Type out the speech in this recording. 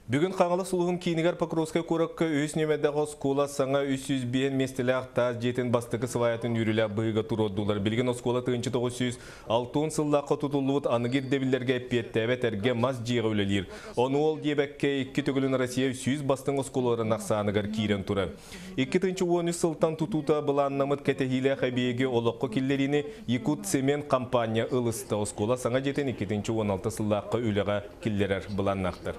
Бүгін қаңылы сұлығын кейінігер Покровская көріккі өз немедегі скола саңа 300 бейін местілі ақтаз жетін бастықы сываятын үрілі бұйға тұроддулар. Білген оскола 1906 сыллаққа тұтылуыт анығыр дебілерге петтәбет әрге мас жиға өлелер. Оны ол дебәкке 2 түгілін Россия 300 бастың осколарын ақсанығыр кейрен тұры. 2-13 сылтан тұтута бұланнамыт кәтехилі қабиеге олыққы келлеріне Якут Цемент компания ылысты. Оскола саңа жетін 2-16 сыллаққа өліға келлерер бұланнақтыр.